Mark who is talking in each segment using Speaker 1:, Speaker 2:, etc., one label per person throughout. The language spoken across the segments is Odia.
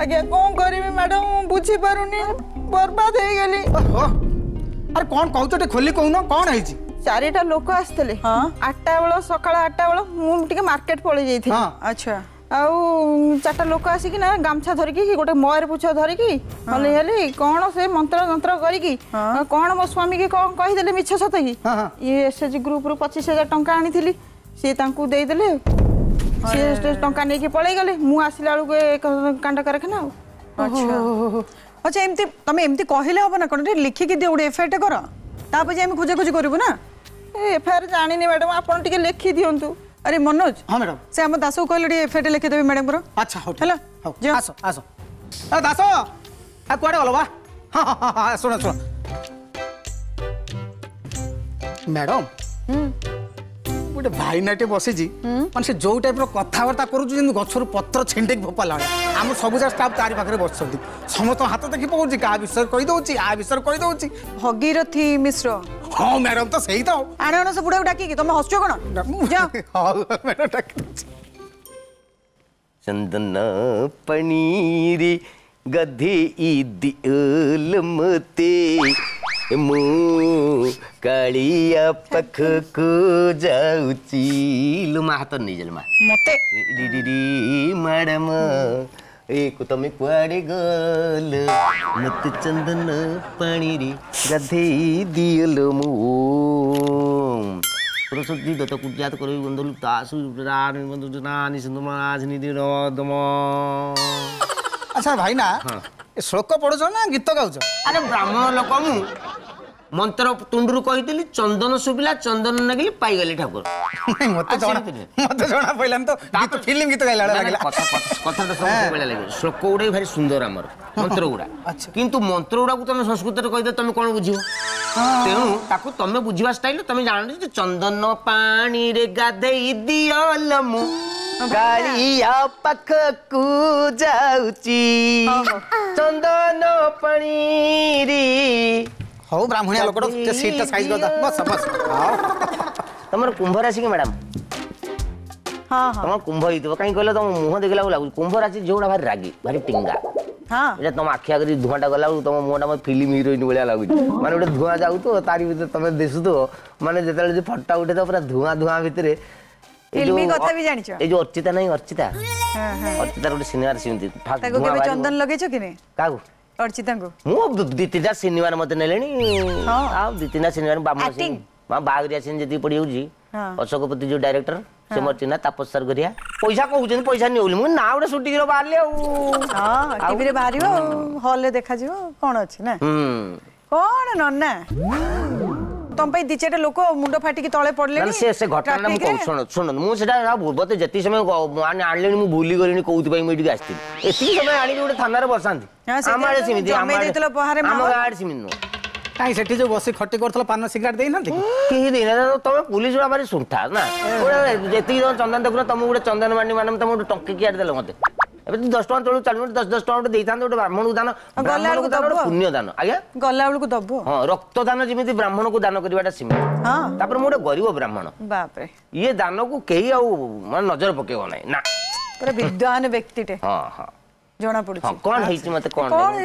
Speaker 1: ଆଜ୍ଞା କଣ କରିବି ମ୍ୟାଡମ, ମୁଁ ବୁଝିପାରୁନି, ବର୍ବାଦ ହେଇଗଲି।
Speaker 2: ଆରେ କଣ କହୁଛ ଟିକେ ଖୋଲି କହୁନ, କଣ ହେଇଛି?
Speaker 1: 4ଟା ଲୋକ ଆସିଥିଲେ 8ଟା ବେଳ, ସକାଳ 8ଟା ବେଳ, ମୁଁ ଟିକେ ମାର୍କେଟ ପଳେଇ ଯାଇଥିଲି।
Speaker 3: ଆଚ୍ଛା।
Speaker 1: ଆଉ 4ଟା ଲୋକ ଆସିକି ନା ଗାମଛା ଧରିକି ଗୋଟେ ମୟୂର ପୁଛ ଧରିକି ହଲି ହଲି କଣ ସେ ମନ୍ତ୍ର ଯନ୍ତ୍ର କରିକି କଣ ମୋ ସ୍ୱାମୀକି କଣ କହିଦେଲେ ମିଛ ସତ କି। ଇଏ ଏସ୍ଏଚଜି ଗ୍ରୁପରୁ 25,000 ଟଙ୍କା ଆଣିଥିଲି, ସିଏ ତାଙ୍କୁ ଦେଇଦେଲେ, ସିଏ ଟଙ୍କା ନେଇକି ପଳେଇଗଲେ। ମୁଁ ଆସିଲା ବେଳକୁ କାଣ୍ଡ କାରଖାନା। ଆଉ
Speaker 3: ଆଚ୍ଛା ଆଚ୍ଛା, ଏମିତି ତମେ ଏମିତି କହିଲେ ହବ ନା କଣ? ଟିକେ ଲେଖିକି ଦିଅ, ଗୋଟେ ଏଫଆଇଆର କର, ତାପରେ ଯାଇ ଆମେ ଖୋଜାଖୋଜି କରିବୁ ନା।
Speaker 1: ଏଫଆଇଆର ଜାଣିନି ମ୍ୟାଡମ, ଆପଣ ଟିକେ ଲେଖି ଦିଅନ୍ତୁ।
Speaker 3: ଆରେ ମନୋଜ।
Speaker 2: ହଁ ମ୍ୟାଡମ।
Speaker 3: ସେ ଆମ ଦାସକୁ କହିଲେ ଟିକେ ଏଫଆଇଆର ଲେଖିଦେବେ ମ୍ୟାଡମଙ୍କର।
Speaker 2: ଆଚ୍ଛା ହଉ
Speaker 3: ହେଲା,
Speaker 2: ହଉ ଆସ ଆସ। ଦାସ କୁଆଡ଼େ ଗଲ ବା? ହଁ ହଁ ହଁ, ଶୁଣ ଶୁଣ ମ୍ୟାଡମ, ଗୋଟେ ଭାଇନାଟେ ବସିଛି, ମାନେ ସେ ଯୋଉ ଟାଇପ୍ର କଥାବାର୍ତ୍ତା କରୁଛି ଯେମିତି ଗଛରୁ ପତ୍ର ଛିଣ୍ଡେଇକି ଫୋପାଡ଼ିଲା ଭଳିଆ। ଆମ ସବୁ ଯାକ ଷ୍ଟାଫ୍ ତାରି ପାଖରେ ବସିଛନ୍ତି, ସମସ୍ତଙ୍କ ହାତ ଦେଖି ପକଉଛି, କାହା ବିଷୟରେ କହିଦଉଛି, ଆ ବିଷୟରେ କହିଦଉଛି।
Speaker 3: ଭଗୀରଥୀ ମିଶ୍ର।
Speaker 2: ହଁ ମ୍ୟାଡମ, ତ ସେଇ ତ।
Speaker 3: ଆଣ ଆଣ ସେ ବୁଢ଼ାକୁ ଡାକିକି, ତମେ ହସୁଛ କଣ?
Speaker 2: ହଉ ମ୍ୟାଡମ, ଡାକି ଦଉଛି।
Speaker 4: ଚନ୍ଦନ ପଣୀରେ ଗଧେଇ ଦିଅଲ ମତେ, ମୁଁ କାଳିଆ ପାଖକୁ ଯାଉଛି। ଲୋ ମା, ହାତ ନେଇଯାଲ ମା
Speaker 3: ମତେ।
Speaker 4: ମ୍ୟାଡମ ଏ ତମେ କୁଆଡ଼େ ଗଲ, ମତେ ଚନ୍ଦନ ପାଣିରେ ଗାଧେଇ ଦିଅଲ। ମୁଁ ସରସ୍ୱତୀ ଦତ୍ତ କୁଜାତ କରିବି ବନ୍ଧୁ ତାସୁ।
Speaker 2: ଆଚ୍ଛା ଭାଇନା, ଶ୍ଲୋକ ପଢୁଛ ନା ଗୀତ ଗାଉଛ?
Speaker 4: ଆରେ ବ୍ରାହ୍ମଣ ଲୋକ ମୁଁ, ମନ୍ତ୍ର ତୁଣ୍ଡରୁ କହିଥିଲି, ଚନ୍ଦନ ଶୁଭିଲା, ଚନ୍ଦନ ନାଗିଲି, ପାଇଗଲି ଠାକୁର।
Speaker 2: ମତେ ଜଣା ମତେ ଜଣା ପଇଲାନି ତ, ଗୀତ ଫିଲ୍ମ ଗୀତ ଗାଇଲା ଭଳିଆ ଲାଗିଲା।
Speaker 4: କଥାଟା ସବୁ ଭଳିଆ ଲାଗିବ। ଶ୍ଲୋକ ଗୁଡା ବି ଭାରି ସୁନ୍ଦର ଆମର ମନ୍ତ୍ର ଗୁଡା, କିନ୍ତୁ ମନ୍ତ୍ର ଗୁଡାକୁ ତମେ ସଂସ୍କୃତରେ କହିଦେ ତମେ କଣ ବୁଝିବ? ତେଣୁ ତାକୁ ତମେ ବୁଝିବା ଷ୍ଟାଇଲ ତମେ ଜାଣ ଯେ ଚନ୍ଦନ ପାଣିରେ ଗାଧେଇ ଦିଅଲ, ମୁଁ କାଳିଆ ପାଖକୁ ଯାଉଛି, ଚନ୍ଦନ ପାଣିରେ।
Speaker 2: ହଉ ବ୍ରାହ୍ମଣିଆ ଲୋକଟା, ସିଟଟା ସାଇଜ କରିଦା, ବସ ବସ।
Speaker 4: ତମର କୁମ୍ଭ ରାଶି କି ମ୍ୟାଡାମ? ତମ କୁମ୍ଭ ହେଇଥିବ, କାହିଁ କହିଲ ତମ ମୁହଁ ଦେଖିଲା ଲାଗୁଛି କୁମ୍ଭ ରାଶି। ଝିଅଗୁଡ଼ା ଭାରି ରାଗି, ଭାରି ଟିଙ୍ଗା। ଏଇଟା ତମ ଆଖି ଆଗରେ ଧୂଆଁଟା ଗଲା ବେଳକୁ ତମ ମୁହଁଟା ମତେ ଫିଲ୍ମ ହିରୋଇନ ଭଳିଆ ଲାଗୁଛି। ମାନେ ଗୋଟେ ଧୂଆଁ ଯାଉଥିବ, ତାରି ଭିତରେ ତମେ ଦିଶୁଥିବ, ମାନେ ଯେତେବେଳେ ଯୋଉ ଫଟୋ ଉଠେଇଥିବ ପୁରା ଧୂଆଁ ଧୂଆଁ ଭିତରେ।
Speaker 3: କଥା ବି ଜାଣିଛ?
Speaker 4: ଏଇ ଯୋଉ ଅର୍ଚିତା ନାହିଁ, ଅର୍ଚିତା, ଅର୍ଚିତାର ଗୋଟେ ସିନେମାରେ ସେମିତି।
Speaker 3: ତାକୁ କେବେ ଚନ୍ଦନ ଲଗେଇଛ କି ନାଇଁ?
Speaker 4: କାହାକୁ?
Speaker 3: ଅର୍ଚିତାଙ୍କୁ।
Speaker 4: ମୁଁ 2 3ଟା ସିନେମାରେ ମତେ ନେଲେଣି, ଆଉ 2 3ଟା ସିନେମାରେ ବାମନ ସିଂ ବାହାଘରିଆ ସିନ୍ ଯେତିକି ପଡିଯାଉଛି, ଅଶୋକପତି ଯୋଉ ଡାଇରେକ୍ଟର ସେ ମୋର ଚିହ୍ନା, ତାପସ ସାର୍ ଘରିଆ ପଇସା କହୁଛନ୍ତି, ପଇସା ନିଅ ବୋଲି। ମୁଁ ନା ଗୋଟେ ସୁଟିଂର ବାହାରିଲି ଆଉ
Speaker 3: ଟିଭିରେ ବାହାରିବ, ହଲରେ ଦେଖାଯିବ, କଣ ଅଛି ନା କଣ ନନା? ତମ ପାଇଁ 2 4ଟା ଲୋକ ମୁଣ୍ଡ ଫାଟିକି ତଳେ ପଡିଲେଣି।
Speaker 4: ସେ ଘଟଣା ମୁଁ କହୁଛି, ଶୁଣ ଶୁଣନ୍ତୁ, ମୁଁ ସେଟା ବୋଧେ ଯେତିକି ସମୟ ଆଣିଲେଣି ମୁଁ ଭୁଲି ଗଲିଣି କୋଉଥିପାଇଁ ମୁଁ ଏଇଠିକି ଆସିଥିଲି। ଏତିକି ସମୟ ଆଣିକି ଗୋଟେ ଥାନାରେ ବସାନ୍ତି। ଆମ ଆଡେ ସେମିତି, ଆମ ଗାଁ ଆଡେ ସେମିତି ନୁହଁ।
Speaker 2: କାଇଁ ସେଠି ଯୋଉ ବସି ଖଟି କରୁଥିଲ, ପାନ ସିଗାରେଟ ଦେଇନାହାନ୍ତି?
Speaker 4: କେହି ଦେଇନାହାନ୍ତି। ତମେ ପୁଲିସ ଗୁଡ଼ା ଭାରି ସୁଣ୍ଠା ନା, ଯେତିକି ଜଣ ଚନ୍ଦନ ଦେଖୁନ, ତମକୁ ଗୋଟେ ଚନ୍ଦନ ମାନି ମ୍ୟାଡ଼ାମ, ତମକୁ ଗୋଟେ ଟଙ୍କିକିଆଟେ ଦେଲେ ମତେ। ଏବେ 10 ଟଙ୍କା ତଳକୁ ଚାଲୁ, 10 10 ଟଙ୍କା ଗୋଟେ ଦେଇଥାନ୍ତେ। ଗୋଟେ ବ୍ରାହ୍ମଣକୁ ଦାନ, ବ୍ରାହ୍ମଣକୁ ଦାନ ଗୋଟେ ପୁଣ୍ୟ ଦାନ ଆଜ୍ଞା।
Speaker 3: ଗଲା ବେଳକୁ ଦବୁ।
Speaker 4: ହଁ, ରକ୍ତଦାନ ଯେମିତି ବ୍ରାହ୍ମଣକୁ ଦାନ କରିବାଟା ସେମିତି। ତାପରେ ମୁଁ ଗୋଟେ ଗରିବ ବ୍ରାହ୍ମଣ,
Speaker 3: ବାପରେ,
Speaker 4: ଇଏ ଦାନକୁ କେହି ଆଉ ମାନେ ନଜର ପକେଇବ ନାହିଁ ନା।
Speaker 3: ପୁରା ବିଦ୍ୱାନ ବ୍ୟକ୍ତିଟେ।
Speaker 4: ହଁ ହଁ,
Speaker 3: ଜଣା ପଡୁଛି।
Speaker 4: କଣ ହେଇଛି ମତେ? କଣ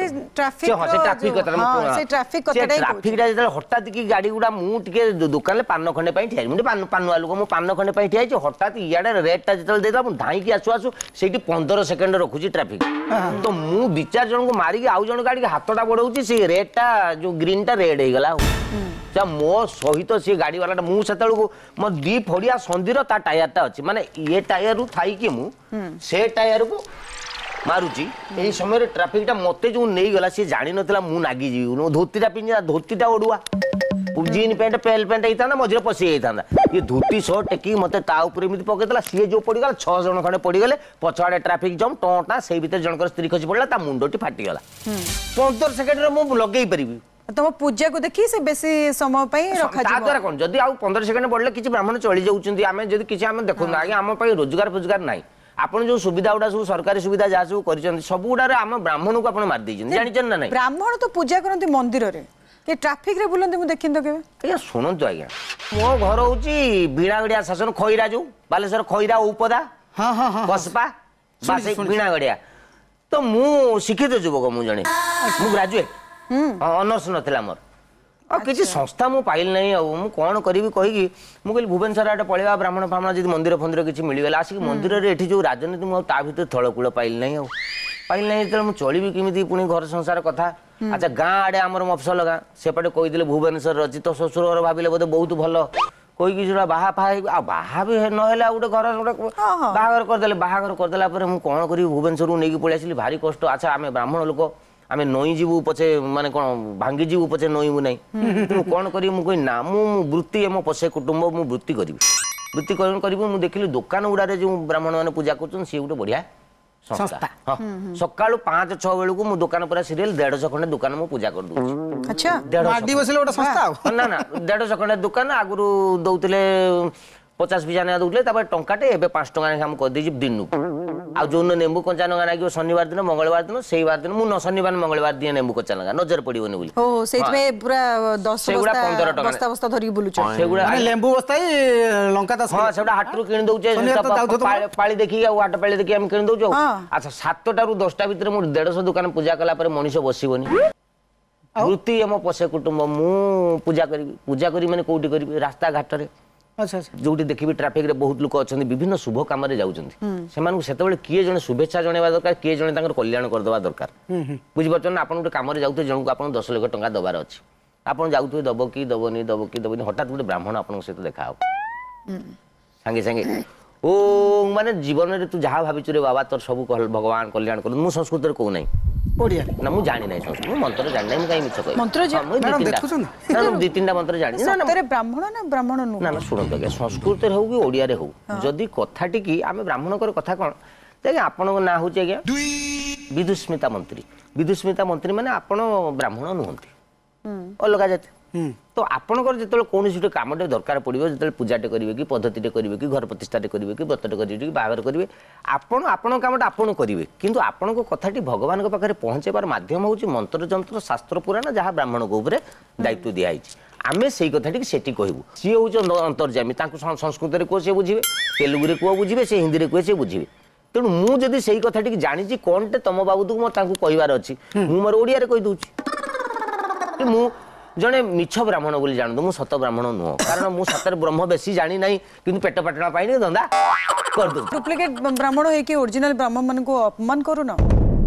Speaker 3: ଟ୍ରାଫିକ?
Speaker 4: ହଁ, ସେ ଟ୍ରାଫିକ କଥା।
Speaker 3: ସେ ଟ୍ରାଫିକ କଥାଟା,
Speaker 4: ଟ୍ରାଫିକଟା ଯେତେବେଳେ ହଠାତ୍ କି ଗାଡି ଗୁଡା, ମୁଁ ଟିକେ ଦୋକାନରେ ପାନ ଖଣ୍ଡେ ପାଇଁ ଠିଆ, ମୁଁ ଟିକେ ପାନୁଆ ଲୋକ, ମୁଁ ପାନ ଖଣ୍ଡେ ପାଇଁ ଠିଆ ହେଇଛି। ହଠାତ୍ ଇଆଡ଼େ ରେଟ୍ଟା ଯେତେବେଳେ ଦେଇଦେଲା, ମୁଁ ଧାଇଁକି ଆସୁ ଆସୁ ସେଇଠି 15 ସେକେଣ୍ଡ ରଖୁଛି ଟ୍ରାଫିକ। ତ ମୁଁ 2 4 ଜଣଙ୍କୁ ମାରିକି ଆଉ ଜଣଙ୍କ ଗାଡ଼ିକି ହାତଟା ବଢଉଛି, ସେ ରେଟ୍ଟା ଯୋଉ ଗ୍ରୀନଟା ରେଡ୍ ହେଇଗଲା। ଆଉ ମୋ ସହିତ ସେ ଗାଡ଼ି ବାଲାଟା, ମୁଁ ସେତେବେଳକୁ ମୋ 2 ଫଡ଼ିଆ ସନ୍ଧିର ତା ଟାୟାରଟା ଅଛି, ମାନେ ଇଏ ଟାୟାରରୁ ଥାଇକି ମୁଁ ସେ ଟାୟାରକୁ ମାରୁଛି। ଏଇ ସମୟରେ ଟ୍ରାଫିକଟା ମତେ ଯୋଉ ନେଇଗଲା, ସିଏ ଜାଣିନଥିଲା ମୁଁ ନାଗିଯିବି। ଧୋତିଟା ପିନ୍ଧି, ଧୋତିଟା ଅଡୁଆ, ଜିନ୍ ପ୍ୟାଣ୍ଟ ପେଲ୍ ପ୍ୟାଣ୍ଟ ହେଇଥାନ୍ତା ମଝିରେ ପଶି ଯାଇଥାନ୍ତା। ଇଏ ଧୋତି ସହ ଟେକିକି ମତେ ତା ଉପରେ ଏମିତି ପକେଇଦେଲା। ସିଏ ଯୋଉ ପଡ଼ିଗଲା, 6 ଜଣ ଖଣ୍ଡେ ପଡ଼ିଗଲେ। ପଛଆଡ଼େ ଟ୍ରାଫିକ ଜାମ୍ ଟଁ ଟାଁ, ସେଇ ଭିତରେ ଜଣଙ୍କର ସ୍ତ୍ରୀ ଖସି ପଡ଼ିଲା, ତା ମୁଣ୍ଡଟି ଫାଟିଗଲା। 15 ସେକେଣ୍ଡରେ ମୁଁ ଲଗେଇ ପାରିବି?
Speaker 3: ତମ ପୂଜାକୁ ଦେଖି ସେ ବେଶୀ ସମୟ ପାଇଁ ରଖାଯିବ।
Speaker 4: ତା ଦ୍ୱାରା କଣ ଯଦି ଆଉ 15 ସେକେଣ୍ଡ ବଢିଲେ କିଛି ବ୍ରାହ୍ମଣ ଚଳି ଯାଉଛନ୍ତି। ଆମେ ଯଦି କିଛି ଆମେ ଦେଖନ୍ତୁ ଆଜ୍ଞା, ଆମ ପାଇଁ ରୋଜଗାର ଫୋଜଗାର ନାହିଁ। ଆପଣ ଯୋଉ ସୁବିଧା ଗୁଡା ସବୁ ସରକାରୀ ସୁବିଧା ଯାହା ସବୁ କରିଛନ୍ତି, ସବୁ ଗୁଡାରେ ଆମ ବ୍ରାହ୍ମଣକୁ ଆପଣ ମାରି ଦେଇଛନ୍ତି, ଜାଣିଛନ୍ତି ନା ନାଇଁ?
Speaker 3: ବ୍ରାହ୍ମଣ ତ ପୂଜା କରନ୍ତି ମନ୍ଦିରରେ, କି ଟ୍ରାଫିକରେ ବୁଲନ୍ତି ମୁଁ ଦେଖିନି ତ କେବେ।
Speaker 4: ଆଜ୍ଞା ଶୁଣନ୍ତୁ ଆଜ୍ଞା, ମୋ ଘର ହଉଛି ବିଣାଗଡ଼ିଆ ଶାସନ, ଖଇରା ଯୋଉ ବାଲେଶ୍ୱର ଖଇରା ଔପଦା କସପା ବା ସେଇ ବିଣାଗଡ଼ିଆ। ତ ମୁଁ ଶିକ୍ଷିତ ଯୁବକ, ମୁଁ ଜଣେ, ମୁଁ ଗ୍ରାଜୁଏଟ୍, ଅନର୍ସ ନଥିଲା ମୋର, ଆଉ କିଛି ସଂସ୍ଥା ମୁଁ ପାଇଲି ନାହିଁ। ଆଉ ମୁଁ କ'ଣ କରିବି କହିକି ମୁଁ କହିଲି ଭୁବନେଶ୍ୱର ଆଡ଼େ ପଳେଇବା, ବ୍ରାହ୍ମଣ ଫାହ୍ମଣ ଯଦି ମନ୍ଦିର ଫନ୍ଦିର କିଛି ମିଳିଗଲା। ଆସିକି ମନ୍ଦିରରେ ଏଠି ଯେଉଁ ରାଜନୀତି, ମୁଁ ଆଉ ତା ଭିତରେ ଥଳକୂଳ ପାଇଲି ନାହିଁ। ଆଉ ପାଇଲି ନାହିଁ ଯେତେବେଳେ ମୁଁ ଚଳିବି କେମିତି, ପୁଣି ଘର ସଂସାର କଥା। ଆଚ୍ଛା, ଗାଁ ଆଡ଼େ ଆମର ମଫସଲ ଗାଁ, ସେପଟେ କହିଦେଲେ ଭୁବନେଶ୍ୱରରେ ଅଛି, ତ ଶ୍ୱଶୁର ଘର ଭାବିଲେ ବୋଧେ ବହୁତ ଭଲ କହିକି ସେଟା ବାହା ଫାହା ହେଇକି, ଆଉ ବାହା ବି ନହେଲେ ଆଉ ଗୋଟେ ଘର ଗୋଟେ ବାହାଘର କରିଦେଲେ। ବାହାଘର କରିଦେଲା ପରେ ମୁଁ କ'ଣ କରିବି, ଭୁବନେଶ୍ୱରକୁ ନେଇକି ପଳେଇ ଆସିଲି, ଭାରି କଷ୍ଟ। ଆଚ୍ଛା, ଆମେ ବ୍ରାହ୍ମଣ ଲୋକ, ଆମେ ନଇଁ ଯିବୁ ପଛେ, ମାନେ କ'ଣ ଭାଙ୍ଗି ଯିବୁ ପଛେ ନଇଁବୁ ନାହିଁ। ମୁଁ କ'ଣ କରିବି, ମୁଁ କହିଲି ନା, ମୁଁ ବୃତ୍ତି ମୋ ପଛେ କୁଟୁମ୍ବ, ମୁଁ ବୃତ୍ତି କରିବି। ବୃତ୍ତି କରିବି, ମୁଁ ଦେଖିଲି ଦୋକାନ ଗୁଡ଼ାରେ ଯେଉଁ ବ୍ରାହ୍ମଣମାନେ ପୂଜା କରୁଛନ୍ତି, ସିଏ ଗୋଟେ ବଢ଼ିଆ ସଂସ୍ଥା। ହଁ, ସକାଳୁ 5 6 ବେଳକୁ ମୁଁ ଦୋକାନ ପୁରା ସିରିଏଲ 150 ଖଣ୍ଡେ ଦୋକାନ ମୁଁ ପୂଜା କରିଦଉଛି।
Speaker 3: ଆଚ୍ଛା,
Speaker 2: 150 ସଂସ୍ଥା?
Speaker 4: ନା ନା, 150 ଖଣ୍ଡେ ଦୋକାନ। ଆଗରୁ ଦଉଥିଲେ 50 ପିସା ଲେଖା ଦଉଥିଲେ, ତାପରେ ଟଙ୍କାଟେ, ଏବେ 5 ଟଙ୍କା ଲେଖା ମୁଁ କରିଦେଇଛି ଦିନକୁ। ଆଉ ଯୋଉଦିନ ନେମ୍ବୁ କଞ୍ଚା ଲଙ୍କା ଲାଗିବ, ଶନିବାର ଦିନ ମଙ୍ଗଳବାର ଦିନ, ସେଇ ବାର ଦିନ ମୁଁ ଶନିବାର ମଙ୍ଗଳବାର ଦିଏ ନେମ୍ବୁ କଞ୍ଚା ଲଙ୍କା, ନଜର ପଡିବନି ବୋଲି।
Speaker 3: ସେଇଥିପାଇଁ ପୁରା 10
Speaker 4: ସେଗୁଡ଼ା 15 ଟଙ୍କା
Speaker 3: ବସ୍ତା ବସ୍ତା ଧରିକି ବୁଲୁଛ
Speaker 4: ସେଗୁଡ଼ା,
Speaker 2: ଲେମ୍ବୁ ବସ୍ତା ଲଙ୍କା?
Speaker 4: ହଁ, ସେଗୁଡ଼ା ହାଟରୁ କିଣି ଦଉଛେ ପାଳି ଦେଖିକି, ଆଉ ହାଟ ପାଳି ଦେଖିକି ଆମେ କିଣି ଦଉଛୁ। ଆଚ୍ଛା, 7ଟାରୁ 10ଟା ଭିତରେ ମୁଁ 150 ଦୋକାନ ପୂଜା କଲା ପରେ ମଣିଷ ବସିବନି। ବୃତ୍ତି ଆମ ପୋଷେ କୁଟୁମ୍ବ, ମୁଁ ପୂଜା କରିବି। ପୂଜା କରିବି ମାନେ କୋଉଠି କରିବି? ରାସ୍ତାଘାଟରେ ଯୋଉଠି ଦେଖିବି ଟ୍ରାଫିକରେ ବହୁତ ଲୋକ ଅଛନ୍ତି, ବିଭିନ୍ନ ଶୁଭ କାମରେ ଯାଉଛନ୍ତି, ସେମାନଙ୍କୁ ସେତେବେଳେ କିଏ ଜଣେ ଶୁଭେଚ୍ଛା ଜଣେଇବା ଦରକାର, କିଏ ଜଣେ ତାଙ୍କର କଲ୍ୟାଣ କରିଦେବା ଦରକାର। ବୁଝିପାରୁଛନ୍ତି ନା? ଆପଣ ଗୋଟେ କାମରେ ଯାଉଥିବେ, ଜଣକୁ ଆପଣ 10 ଲକ୍ଷ ଟଙ୍କା ଦେବାର ଅଛି, ଆପଣ ଯାଉଥିବେ, ଦବ କି ଦବନି, ଦବ କି ଦବନି, ହଠାତ୍ ଗୋଟେ ବ୍ରାହ୍ମଣ ଆପଣଙ୍କ ସହିତ ଦେଖା ହବ, ସାଙ୍ଗେ ସାଙ୍ଗେ ଓ ମାନେ ଜୀବନରେ ତୁ ଯାହା ଭାବିଛୁ ରେ ବାବା, ତୋର ସବୁ ଭଗବାନ କଲ୍ୟାଣ କରନ୍ତୁ। ମୁଁ ସଂସ୍କୃତରେ କହୁନାହିଁ, ନା ମୁଁ ଜାଣି ନାହିଁ ସଂସ୍କୃତ, ମୁଁ ମନ୍ତ୍ର ଜାଣି ନାହିଁ, ମୁଁ କାହିଁ ମିଛ କହିବି? ନା, ମୁଁ 2 3ଟା ମନ୍ତ୍ର ଜାଣିଛି।
Speaker 3: ବ୍ରାହ୍ମଣ ନା ବ୍ରାହ୍ମଣ?
Speaker 4: ନା ନା, ଶୁଣନ୍ତୁ ଆଜ୍ଞା, ସଂସ୍କୃତରେ ହଉ କି ଓଡ଼ିଆରେ ହଉ, ଯଦି କଥାଟିକି ଆମେ ବ୍ରାହ୍ମଣଙ୍କର କଥା କ'ଣ ଆଜ୍ଞା, ଆପଣଙ୍କ ନାଁ ହେଉଛି ଆଜ୍ଞା ବିଦୁସ୍ମିତା ମନ୍ତ୍ରୀ। ବିଦୁସ୍ମିତା ମନ୍ତ୍ରୀ ମାନେ ଆପଣ ବ୍ରାହ୍ମଣ ନୁହନ୍ତି, ଅଲଗା ଜାତି। ତ ଆପଣଙ୍କର ଯେତେବେଳେ କୌଣସି ଗୋଟେ କାମଟେ ଦରକାର ପଡ଼ିବ, ଯେତେବେଳେ ପୂଜାଟେ କରିବେ କି ପଦ୍ଧତିଟେ କରିବେ କି ଘର ପ୍ରତିଷ୍ଠାଟେ କରିବେ କି ବ୍ରତଟେ କରିବେ କି ବାହାଘର କରିବେ, ଆପଣ ଆପଣଙ୍କ କାମଟା ଆପଣ କରିବେ, କିନ୍ତୁ ଆପଣଙ୍କ କଥାଟି ଭଗବାନଙ୍କ ପାଖରେ ପହଞ୍ଚାଇବାର ମାଧ୍ୟମ ହେଉଛି ମନ୍ତ୍ର ଯନ୍ତ୍ର ଶାସ୍ତ୍ର ପୁରାଣ, ଯାହା ବ୍ରାହ୍ମଣଙ୍କ ଉପରେ ଦାୟିତ୍ୱ ଦିଆହେଇଛି। ଆମେ ସେଇ କଥାଟିକି ସେଠି କହିବୁ। ସିଏ ହେଉଛି ଅନ୍ତର୍ଯାମୀ, ତାଙ୍କୁ ସଂସ୍କୃତରେ କୁହ ସିଏ ବୁଝିବେ, ତେଲୁଗୁରେ କୁହ ବୁଝିବେ, ସେ ହିନ୍ଦୀରେ କୁହେ ସେ ବୁଝିବେ। ତେଣୁ ମୁଁ ଯଦି ସେଇ କଥାଟିକି ଜାଣିଛି କ'ଣଟେ ତମ ବାବଦକୁ ମୋର ତାଙ୍କୁ କହିବାର ଅଛି, ମୁଁ ମୋର ଓଡ଼ିଆରେ କହିଦେଉଛି। ମୁଁ ଜଣେ ମିଛ ବ୍ରାହ୍ମଣ ବୋଲି ଜାଣନ୍ତୁ, ମୁଁ ସତ ବ୍ରାହ୍ମଣ ନୁହଁ, କାରଣ ମୁଁ ସତରେ ବ୍ରହ୍ମ ବେଶୀ ଜାଣି ନାହିଁ, କିନ୍ତୁ ପେଟ ପାଟଣା ପାଇଁ ଧନ୍ଦା କରିଦେଉଛି।
Speaker 3: ଡୁପ୍ଲିକେଟ ବ୍ରାହ୍ମଣ ହେଇକି ଓରିଜିନାଲ ବ୍ରାହ୍ମଣ ମାନଙ୍କୁ ଅପମାନ କରୁନ?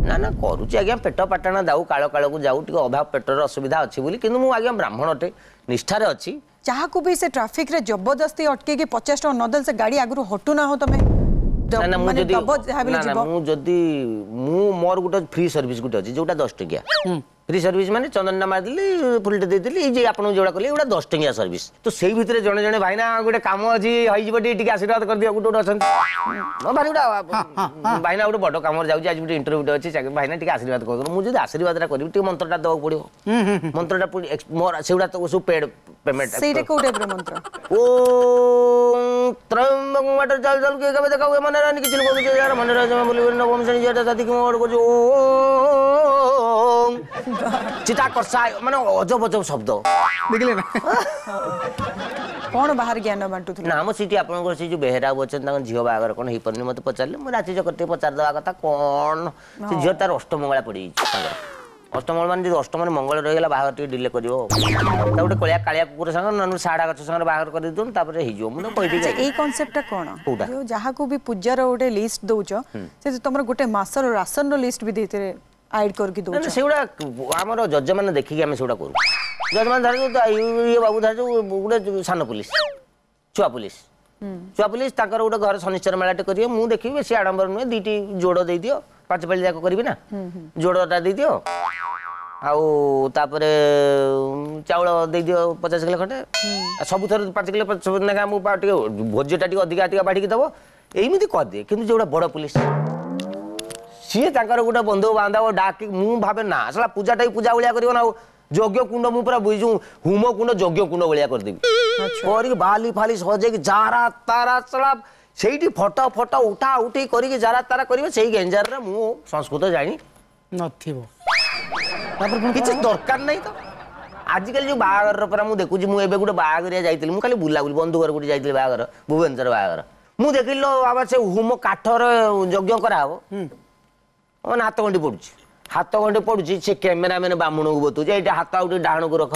Speaker 4: ନା ନା, କରୁଛି ଆଜ୍ଞା, ପେଟ ପାଟଣା ଯାଉ, କାଳ କାଳକୁ ଯାଉ, ଟିକେ ଅଭାବ ପେଟର ଅସୁବିଧା ଅଛି ବୋଲି, କିନ୍ତୁ ମୁଁ ଆଜ୍ଞା ବ୍ରାହ୍ମଣଟେ, ନିଷ୍ଠାରେ ଅଛି।
Speaker 3: ଯାହାକୁ ବି ସେ ଟ୍ରାଫିକରେ ଜବରଦସ୍ତି ଅଟକେଇକି 50 ଟଙ୍କା ନଦେଲେ ସେ ଗାଡ଼ି ଆଗରୁ ହଟୁ ନା? ହଉ, ତମେ
Speaker 4: ନା, ମୁଁ ଯଦି ମୁଁ ଯଦି ମୁଁ ମୋର ଗୋଟେ ଫ୍ରି ସର୍ଭିସ ଗୋଟେ ଅଛି ଯୋଉଟା 10 ଟଙ୍କିଆ ଫ୍ରି ସର୍ଭିସ, ମାନେ ଚନ୍ଦନଟା ମାରିଦେଲି, ଫୁଲଟେ ଦେଇଦେଲି, ଏଇ ଯେ ଆପଣଙ୍କୁ ଯୋଉଟା କଲି, ଏଗୁଡ଼ା 10 ଟଙ୍କିଆ ସର୍ଭିସ। ତ ସେଇ ଭିତରେ ଜଣେ ଜଣେ ଭାଇନା ଗୋଟେ କାମ ଅଛି ହେଇଯିବ, ଟିକେ ଟିକେ ଆଶୀର୍ବାଦ କରିଦିଅ, ଗୋଟେ ଗୋଟେ ଅଛନ୍ତି ଭାରି ଗୋଟେ ଭାଇନା, ଗୋଟେ ବଡ଼ କାମରେ ଯାଉଛି, ଆଜି ଗୋଟେ ଇଣ୍ଟରଭ୍ୟୁଟେ ଅଛି, ଭାଇନା ଟିକେ ଆଶୀର୍ବାଦ କରିଦିଅ। ମୁଁ ଯଦି ଆଶୀର୍ବାଦଟା କରିବି, ଟିକେ ମନ୍ତ୍ରଟା ଦେବାକୁ ପଡ଼ିବ। ମନ୍ତ୍ରଟା ମୋର ସେଗୁଡ଼ା ତ ସବୁ ପେଡ୍ ପେମେଣ୍ଟ।
Speaker 3: ସେଇଟା କୋଉ ଟାଇପର ମନ୍ତ୍ର?
Speaker 4: ଓ ତ୍ରୟମ୍ବକ ବାଟରେ ଚାଲ ଚାଲ, କିଏ କେବେ ଦେଖା ହୁଏ ମନେ ରହେନି, କିଛି ଲୋକ କିଛି ମନେ ରହେ ବୋଲି ନବମ ଶ୍ରେଣୀ ଝିଅଟା ସାଥିକି ମୁଁ କରୁଛି ଓ ଚିତା କର୍ଷା, ମାନେ ଅଜବ ଅଜବ ଶବ୍ଦ।
Speaker 2: ଦେଖିଲେ ନା
Speaker 3: କ'ଣ ବାହାର ଜ୍ଞାନ ବାଣ୍ଟୁଥିଲେ?
Speaker 4: ନା, ଆମ ସେଠି ଆପଣଙ୍କର ସେଇ ଯୋଉ ବେହେରା ଅଛନ୍ତି, ତାଙ୍କ ଝିଅ ବାହାଘର କ'ଣ ହେଇପାରୁନି, ମୋତେ ପଚାରିଲେ, ମୁଁ ରାତି ଚକର ଟିକେ ପଚାରିଦେବା କଥା କ'ଣ। ସେ ଝିଅ ତାର ଅଷ୍ଟମଙ୍ଗଳା ପଡ଼ିଯାଇଛି ତାଙ୍କର। ଅଷ୍ଟମଙ୍ଗଳ ମାନେ ଯଦି ଅଷ୍ଟମରେ ମଙ୍ଗଳ ରହିଗଲା, ବାହାଘର ଟିକେ ଡିଲେ କରିବ। ତା ଗୋଟେ କଳିଆ କାଳିଆ କୁକୁର ସାଙ୍ଗ ନହେଲେ ସାଢା ଗଛ ସାଙ୍ଗରେ ବାହାଘର କରିଦିଅନ୍ତୁ, ତାପରେ ହେଇଯିବ। ମୁଁ ତ କହିଦେଇଛି।
Speaker 3: ଏଇ କନସେପ୍ଟଟା କ'ଣ?
Speaker 4: କୋଉଟା?
Speaker 3: ଯାହାକୁ ବି ପୂଜାର ଗୋଟେ ଲିଷ୍ଟ ଦଉଛ, ସେ ତମର ଗୋଟେ ମାସର ରାସନର ଲିଷ୍ଟ ବି ଦେଇଥିଲେ ଆଡ୍ କରିକି ଦଉଛ।
Speaker 4: ସେଗୁଡ଼ା ଆମର ଜଜମାନେ ଦେଖିକି ଆମେ ସେଗୁଡ଼ା କରୁ। ଜଜମାନେ ଧର ଇଏ ବାବୁ ଧର ଗୋଟେ ସାନ ପୁଲିସ, ଛୁଆ ପୁଲିସ, ଛୁଆ ପୁଲିସ ତାଙ୍କର ଗୋଟେ ଘରେ ଶନିଶ୍ଚର ମେଳାଟେ କରିବେ, ମୁଁ ଦେଖିବି, ବେଶୀ ଆଡ଼ମ୍ବର ନୁହେଁ, 2ଟି ଯୋଡ଼ ଦେଇଦିଅ, 5 ପାଳି ଯାକ କରିବି ନା, ଯୋଡ଼ଟା ଦେଇଦିଅ, ଆଉ ତାପରେ ଚାଉଳ ଦେଇଦିଅ 50 କିଲୋ ଖଣ୍ଡେ, ସବୁଥର 5 କିଲୋ ଲେଖା, ମୁଁ ଟିକେ ଭୋଜିଟା ଟିକେ ଅଧିକା ଅଧିକା ବାଢ଼ିକି ଦେବ, ଏମିତି କରିଦିଏ। କିନ୍ତୁ ଯେଉଁଟା ବଡ଼ ପୁଲିସ, ସିଏ ତାଙ୍କର ଗୋଟେ ବନ୍ଧୁ ବାନ୍ଧବ ଡାକି, ମୁଁ ଭାବେ ନା ଶଳା ପୂଜାଟା ବି ପୂଜା ଭଳିଆ କରିବ ନା, ଆଉ ଯଜ୍ଞ କୁଣ୍ଡ ମୁଁ ପୁରା ଯୋଉ ହୁମ କୁଣ୍ଡ ଯଜ୍ଞ କୁଣ୍ଡ ଭଳିଆ କରିଦେବି, କରିକି ବାଲି ଫାଲି ସଜେଇକି ଯାରା ତାରା ଶଳା ସେଇଠି ଫଟୋ ଫଟୋ ଉଠା ଉଠି କରିକି ଯାରା ତାରା କରିବେ। ସେଇ ଗେଞ୍ଜାରରେ ମୁଁ ସଂସ୍କୃତ ଜାଣି
Speaker 2: ନଥିବ,
Speaker 4: ତାପରେ କିଛି ଦରକାର ନାହିଁ। ତ ଆଜିକାଲି ଯୋଉ ବାହାଘରର ପରା ମୁଁ ଦେଖୁଛି, ମୁଁ ଏବେ ଗୋଟେ ବାହାଘରିଆ ଯାଇଥିଲି, ମୁଁ ଖାଲି ବୁଲାବୁଲି ବନ୍ଧୁ ଘର ଗୋଟେ ଯାଇଥିଲି, ବାହାଘର ଭୁବନେଶ୍ୱର ବାହାଘର, ମୁଁ ଦେଖିଲି ବାବା ସେ ହୁମ କାଠର ଯଜ୍ଞ କରାହବ, ମାନେ ହାତ ଗଣ୍ଠି ପଡୁଛି, ହାତ ଗଣ୍ଠି ପଡୁଛି। ସେ କ୍ୟାମେରାମ୍ୟାନ୍ ବାମୁଣକୁ ବତଉଛି, ଏଇଟା ହାତ ଆଉ ଟିକେ ଡାହାଣକୁ ରଖ,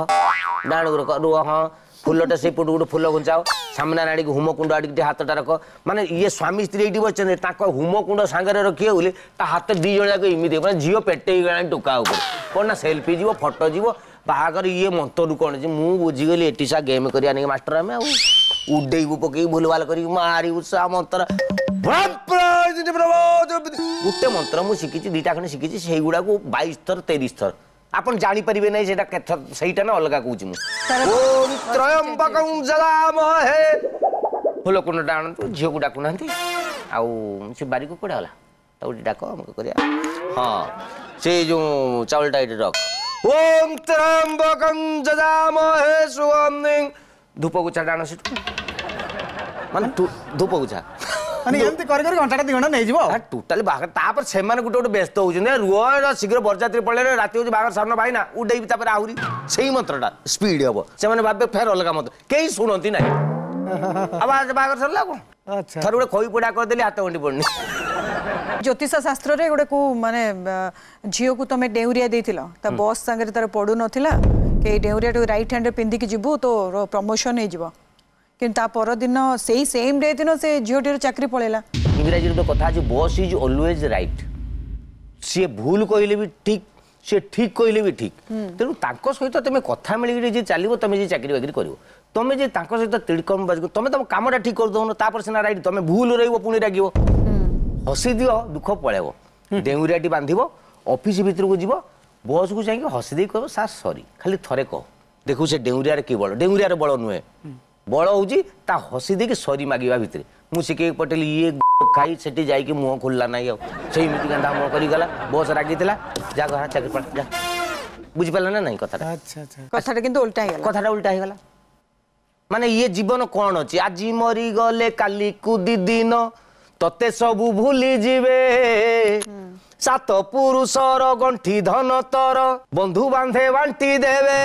Speaker 4: ଡାହାଣକୁ ରଖ, ରୁହ, ହଁ ଫୁଲଟା ସେଇପଟୁ ଗୋଟେ ଫୁଲ ଘୁଞ୍ଚାଅ, ସାମ୍ନା ଆଡ଼ିକି ହୁମକୁଣ୍ଡ ଆଡ଼ିକି ଟିକେ ହାତଟା ରଖ। ମାନେ ଇଏ ସ୍ୱାମୀ ସ୍ତ୍ରୀ ଏଇଠି ବସିଛନ୍ତି, ତାଙ୍କ ହୁମକୁଣ୍ଡ ସାଙ୍ଗରେ ରଖିବେ ବୋଲି ତା ହାତ ଦି ଜଣ ଯାକ ଏମିତି, ମାନେ ଝିଅ ପେଟେଇ ଗଲାଣି ଟୋକା ଉପରେ। କ'ଣ ନା ସେଲ୍ଫି ଯିବ, ଫଟୋ ଯିବ, ବାହାଘର ଇଏ ମନ୍ତରୁ କ'ଣ ଅଛି। ମୁଁ ବୁଝିଗଲି ଏଠି ସା ଗେମ୍ କରିବା ନାଇଁ ମାଷ୍ଟର, ଆମେ ଆଉ ଉଡେଇବୁ ପକେଇକି ଭୁଲଭାଲ କରିକି ମାରିବୁ ସା ମନ୍ତ୍ର। ଗୋଟେ ମନ୍ତ୍ର ମୁଁ ଶିଖିଛି, ଦିଟା ଖଣ୍ଡେ ଶିଖିଛି, ସେଇଗୁଡ଼ାକୁ 22 ଥର 23 ଥର ଆପଣ ଜାଣିପାରିବେ ନାହିଁ ସେଇଟା କେତେ, ସେଇଟା ନା ଅଲଗା କହୁଛି ମୁଁ। ଓମ୍ ତ୍ରୟମ୍ବକଂ ଯଜାମହେ। ଫୁଲକୁଣ୍ଡଟା ଆଣନ୍ତୁ, ଝିଅକୁ ଡାକୁନାହାନ୍ତି। ଆଉ ସେ ବାରିକୁ କୁଆଡ଼େ ଗଲା, ତାକୁ ଟିକେ ଡାକ, ଅମକ କରିବା। ହଁ ସେ ଯୋଉ ଚାଉଳଟା ଏଇଠି ରଖ। ଓମ୍ ତ୍ରୟମ୍ବକଂ ଯଜାମହେ ସୁଗନ୍ଧିଂ। ଧୂପଗୁଛାଟା ଆଣ ସେଠୁ, ମାନେ ଧୂପଗୁଛା
Speaker 2: ମାନେ ଏମିତି କରି କରି ଘଣ୍ଟାଟା 2 ଘଣ୍ଟା ନେଇଯିବ
Speaker 4: ଟୋଟାଲି ବାହାଘର। ତାପରେ ସେମାନେ ଗୋଟେ ଗୋଟେ ବ୍ୟସ୍ତ ହଉଛନ୍ତି, ରୁହ ଶୀଘ୍ର ବରଯାତ୍ରୀ ପଳେଇଲେ ରାତି ହଉଛି, ବାହାଘର ସାରନ ଭାଇନା ଉଡେଇବି। ତାପରେ ଆହୁରି ସେଇ ମନ୍ତ୍ରଟା ସ୍ପିଡ ହବ, ସେମାନେ ଭାବିବେ ଫେର ଅଲଗା ମନ୍ତ୍ର, କେହି ଶୁଣନ୍ତି ନାହିଁ। ଆଉ ବାହାଘର ସରିଲା କ'ଣ? ଥରେ ଗୋଟେ ଖଇ ପୋଡ଼ା କରିଦେଲି, ହାତ ଗଣ୍ଠି ପଡୁନି।
Speaker 3: ଜ୍ୟୋତିଷ ଶାସ୍ତ୍ରରେ ଗୋଟେ କୋଉ ମାନେ ଝିଅକୁ ତମେ ଡେଉଁରିଆ ଦେଇଥିଲ, ତା ବସ୍ ସାଙ୍ଗରେ ତାର ପଡୁନଥିଲା, କି ଏଇ ଡେଉଁରିଆଟାକୁ ରାଇଟ୍ ହ୍ୟାଣ୍ଡରେ ପିନ୍ଧିକି ଯିବୁ ତୋର ପ୍ରମୋସନ ହେଇଯିବ, କିନ୍ତୁ ତା ପରଦିନ ସେଇ ସେମ୍ ଡେ ଦିନ ସେ ଝିଅଟିର ଚାକିରି ପଳେଇଲା।
Speaker 4: ଇଂରାଜୀରେ ଗୋଟେ କଥା ଅଛି, ବସ୍ is always right. ସିଏ ଭୁଲ କହିଲେ ବି ଠିକ୍, ସିଏ ଠିକ୍ କହିଲେ ବି ଠିକ୍। ତେଣୁ ତାଙ୍କ ସହିତ ତମେ କଥା ମିଳିକିରି ଯେ ଚାଲିବ, ତମେ ଯେ ଚାକିରି ବାକିରି କରିବ। ତମେ ଯେ ତାଙ୍କ ସହିତ ତିଡ଼କମ ବାଜିବ, ତମେ ତମ କାମଟା ଠିକ୍ କରିଦଉନ, ତାପରେ ସିନା ରାଇଟ୍, ତମେ ଭୁଲ ରହିବ ପୁଣି ରାଗିବ। ହସି ଦିଅ, ଦୁଃଖ ପଳେଇବ। ଡେଉଁରିଆଟି ବାନ୍ଧିବ, ଅଫିସ ଭିତରକୁ ଯିବ, ବସ୍କୁ ଯାଇକି ହସି ଦେଇ କହିବ ସାର୍ ସରି, ଖାଲି ଥରେ କହ। ଦେଖୁ ସେ ଡେଉଁରିଆରେ କି ବଳ, ଡେଉଁରିଆର ବଳ ନୁହେଁ, ବଳ ହେଉଛି ତା ହସି ଦେଇକି ସରି ମାଗିବା ଭିତରେ। ମୁଁ ଶିଖେଇକି ପଠେଇଲି, ଇଏ ଖାଇ ସେଠି ଯାଇକି ମୁହଁ ଖୋଲିଲା ନାହିଁ, ଆଉ ସେଇମିତି ଗାନ୍ଧା ମୁହଁ କରିଗଲା। ବସ୍ ରାଗିଥିଲା, ଯା ଘର ଚାକିରି ପଳା ଯା। ବୁଝିପାରିଲ ନା ନାଇଁ କଥାଟା?
Speaker 3: କଥାଟା କିନ୍ତୁ ଓଲଟା ହେଇଗଲା,
Speaker 4: କଥାଟା ଓଲଟା ହେଇଗଲା। ମାନେ ଇଏ ଜୀବନ କ'ଣ ଅଛି, ଆଜି ମରିଗଲେ କାଲିକୁ ଦି ଦିନ ତତେ ସବୁ ଭୁଲି ଯିବେ, ସାତ ପୁରୁଷର ଗଣ୍ଠି ଧନ ତର ବନ୍ଧୁ ବାନ୍ଧେ ବାଣ୍ଟି ଦେବେ,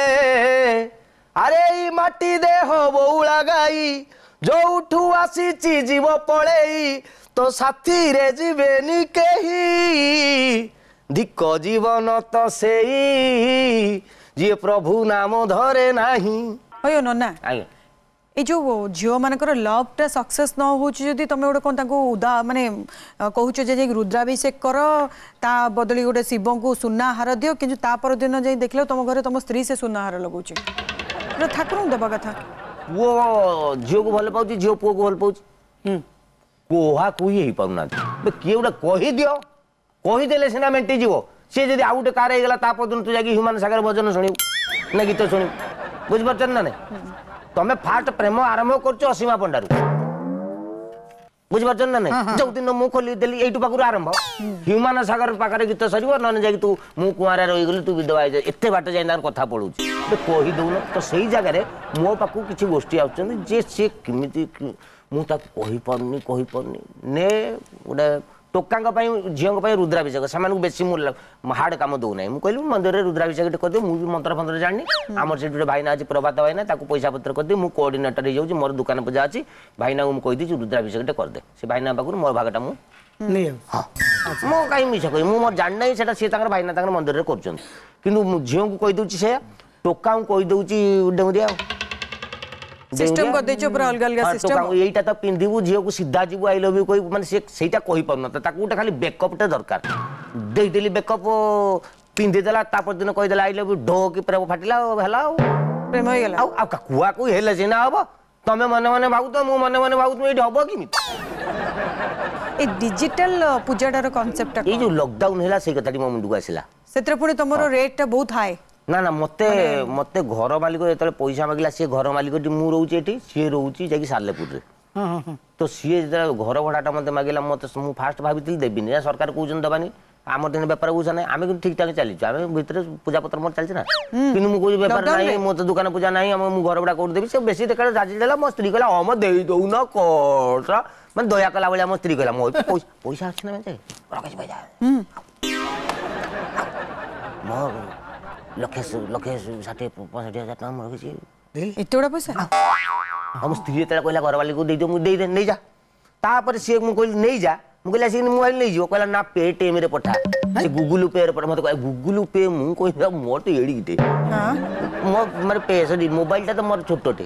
Speaker 4: ଆରେ ଏଇ ମାଟି ଦେହ ବଉଳା ଗାଈ ଯୋଉଠୁ ଆସିଛି ଯିବ ପଳେଇ, ତୋ ସାଥିରେ ଯିବେନି କେହି, ଧିକ ଜୀବନ ତ ସେଇ ଯିଏ ପ୍ରଭୁ ନାମ ଧରେ ନାହିଁ।
Speaker 3: ହଇଓ ନନା,
Speaker 4: ଆଜ୍ଞା,
Speaker 3: ଏଇ ଯୋଉ ଝିଅମାନଙ୍କର ଲଭ୍ଟା ସକ୍ସେସ୍ ନ ହେଉଛି, ଯଦି ତମେ ଗୋଟେ କ'ଣ ତାଙ୍କୁ ଉଦା ମାନେ କହୁଛ ଯେ ଯାଇକି ରୁଦ୍ରାଭିଷେକ କର, ତା ବଦଳି ଗୋଟେ ଶିବଙ୍କୁ ସୁନା ହାର ଦିଅ, କିନ୍ତୁ ତା ପରଦିନ ଯାଇ ଦେଖିଲ ତମ ଘରେ ତମ ସ୍ତ୍ରୀ ସେ ସୁନା ହାର ଲଗାଉଛି, ଏଟା ଠାକୁରଙ୍କୁ ଦେବା କଥା।
Speaker 4: ପୁଅ ଝିଅକୁ ଭଲ ପାଉଛି, ଝିଅ ପୁଅକୁ ଭଲ ପାଉଛି, କୁହା କୁହି ହେଇପାରୁନାହାନ୍ତି। କିଏ ଗୋଟେ କହିଦିଅ, କହିଦେଲେ ସିନା ମେଣ୍ଟିଯିବ। ସିଏ ଯଦି ଆଉ ଗୋଟେ କାର ହେଇଗଲା, ତା ପରଦିନ ତୁ ଯାଇକି ହ୍ୟୁମାନ ସାଗର ଭଜନ ଶୁଣିବୁ ନା ଗୀତ ଶୁଣିବୁ, ବୁଝିପାରୁଛନ୍ତି ନା ନାଇଁ? ତମେ ଫାଷ୍ଟ ପ୍ରେମ ଆରମ୍ଭ କରୁଛ ଅସୀମା ପଣ୍ଡାରୁ, ବୁଝିପାରୁଛନ୍ତି ନା ନାଇଁ? ଯୋଉଦିନ ମୁଁ ଖୋଲିଦେଲି ଏଇଠୁ ପାଖରୁ ଆରମ୍ଭ, ହ୍ୟୁମାନ ସାଗର ପାଖରେ ଗୀତ ସରିବ, ନହେଲେ ଯାଇକି ତୁ ମୁଁ କୁଆଁରା ରହିଗଲି ତୁ ବିଧବା ହେଇଯାଏ, ଏତେ ବାଟ ଯାଇ ତାଙ୍କର କଥା ପଳଉଛି, କହିଦଉନ ତ। ସେଇ ଜାଗାରେ ମୋ ପାଖକୁ କିଛି ଗୋଷ୍ଠୀ ଆସୁଛନ୍ତି ଯେ ସିଏ କେମିତି ମୁଁ ତାକୁ କହିପାରୁନି, କହିପାରୁନି। ନେ ଗୋଟେ ଟୋକାଙ୍କ ପାଇଁ ଝିଅଙ୍କ ପାଇଁ ରୁଦ୍ରାଭିଷେକ, ସେମାନଙ୍କୁ ବେଶୀ ମୁଁ ହାର୍ଡ କାମ ଦଉନାହିଁ। ମୁଁ କହିଲି ମନ୍ଦିରରେ ରୁଦ୍ରାଭିଷେକ ଟିକେ କରିଦିଅ, ମୁଁ ବି ମନ୍ତ୍ର ଫନ୍ତ୍ର ଜାଣିନି। ଆମର ସେଠି ଗୋଟେ ଭାଇନା ଅଛି ପ୍ରଭାତ ଭାଇନା, ତାକୁ ପଇସା ପତ୍ର କରିଦିଏ, ମୁଁ କୋଅର୍ଡିନେଟର ହେଇଯାଉଛି, ମୋର ଦୋକାନ ପୂଜା ଅଛି, ଭାଇନାକୁ ମୁଁ କହିଦେଇଛି ରୁଦ୍ରାଭିଷେକ ଟିକେ କରିଦେ। ସେ ଭାଇନା ପାଖରୁ ମୋ ଭାଗଟା ମୁଁ, ହଁ ମୁଁ କାହିଁ ମିଛ କହିବି, ମୁଁ ମୋର ଜାଣିନାହିଁ ସେଟା, ସିଏ ତାଙ୍କର ଭାଇନା ତାଙ୍କର ମନ୍ଦିରରେ କରୁଛନ୍ତି। କିନ୍ତୁ ମୁଁ ଝିଅଙ୍କୁ କହିଦେଉଛି ସେୟା, ଟୋକାଙ୍କୁ କହିଦେଉଛି ଡେଉଁରିଆ ଆଉ
Speaker 3: ସିଷ୍ଟମ କରିଦେଇଛ ପୁରା ଅଲଗା ଅଲଗା ସିଷ୍ଟମ।
Speaker 4: ଏଇଟା ତ ପିନ୍ଧିବୁ, ଝିଅକୁ ସିଧା ଯିବୁ I love you କହିବୁ, ମାନେ ସେ ସେଇଟା କହିପାରୁନଥିଲା, ତାକୁ ଗୋଟେ ଖାଲି ବେକଅପ୍ଟେ ଦରକାର। ଦେଇଦେଲି ବେକଅପ୍, ପିନ୍ଧିଦେଲା, ତା ପରଦିନ କହିଦେଲା I love you, ଢୋ କି ପ୍ରେମ ଫାଟିଲା ଆଉ ହେଲା, ଆଉ
Speaker 3: ପ୍ରେମ ହେଇଗଲା।
Speaker 4: ଆଉ ଆଉ କୁହା କୁହି ହେଲେ ସିନା ହବ, ତମେ ମନେ ମନେ ଭାବୁଥିବ, ମୁଁ ମନେ ମନେ ଭାବୁଥିବି, ଏଇଠି ହବ କେମିତି?
Speaker 3: ଏ ଡିଜିଟାଲ ପୂଜାଟାର କନସେପ୍ଟଟା
Speaker 4: ଏଇ ଯୋଉ ଲକଡାଉନ ହେଲା ସେଇ କଥାଟି ମୋ ମୁଣ୍ଡକୁ ଆସିଲା।
Speaker 3: ସେଥିରେ ପୁଣି ତମର ରେଟଟା ବହୁତ ହାଇ।
Speaker 4: ନା ନା, ମତେ ମତେ ଘର ମାଲିକ ଯେତେବେଳେ ପଇସା ମାଗିଲା, ସିଏ ଘର ମାଲିକଟି, ମୁଁ ରହୁଛି ଏଠି, ସିଏ ରହୁଛି ଯାଇକି ସାଲେପୁରରେ, ତ ସିଏ ଯେତେବେଳେ ଘର ଭଡ଼ାଟା ମତେ ମାଗିଲା, ମତେ ମୁଁ ଫାଷ୍ଟ ଭାବିଥିଲି ଦେବିନି, ସରକାର କହୁଛନ୍ତି ଦେବାନି, ଆମର ଦିନ ବେପାର ପଇସା ନାହିଁ, ଆମେ କିନ୍ତୁ ଠିକ ଠାକ ଚାଲିଛୁ, ଆମେ ଭିତରେ ପୂଜା ପତ୍ର ମୋର ଚାଲିଛି ନା, କିନ୍ତୁ ମୁଁ କହୁଛି ବେପାର ନାହିଁ, ମୋର ତ ଦୋକାନ ପୂଜା ନାହିଁ, ଆମ ମୁଁ ଘର ଭଡ଼ା କୋଉଠି ଦେବି? ସେ ବେଶୀ ଦେଖା ରାଜି ଦେଲା। ମୋ ସ୍ତ୍ରୀ କହିଲା ହଁ ମ ଦେଇ ଦଉନ କଣ, ମାନେ ଦୟା କଲା ଭଳିଆ ମୋ ସ୍ତ୍ରୀ କହିଲା, ମୋ ପଇସା ଅଛି ନା ରଖିଛି ପଇସା, ମୋ ଲକ୍ଷେ ଲକ୍ଷେ 60 65 ହଜାର ଟଙ୍କା ମୁଁ ରଖିଛି।
Speaker 3: ଏତେ ଗୁଡ଼ା ପଇସା?
Speaker 4: ଆଉ ମୋ ସ୍ତ୍ରୀ ଯେତେବେଳେ କହିଲା ଘର ମାଲିକକୁ ଦେଇଦିଅ, ମୁଁ ଦେଇଦେ ନେଇଯା। ତାପରେ ସିଏ ମୁଁ କହିଲି ନେଇଯା, ମୁଁ କହିଲି ଆସିକି ମୁଁ ଭାବିଲି ନେଇଯିବ, କହିଲା ନା ପେଟିଏମ୍ରେ ପଠା। ସେ ଗୁଗୁଲ ପେ ରେ ମତେ କହେ ଗୁଗୁଲ ପେ, ମୁଁ କହିଲି ମୋର ତ ଏଡ଼ିକିଟେ, ମୋ ମାନେ ପେ ସରି ମୋବାଇଲଟା ତ ମୋର ଛୋଟଟେ।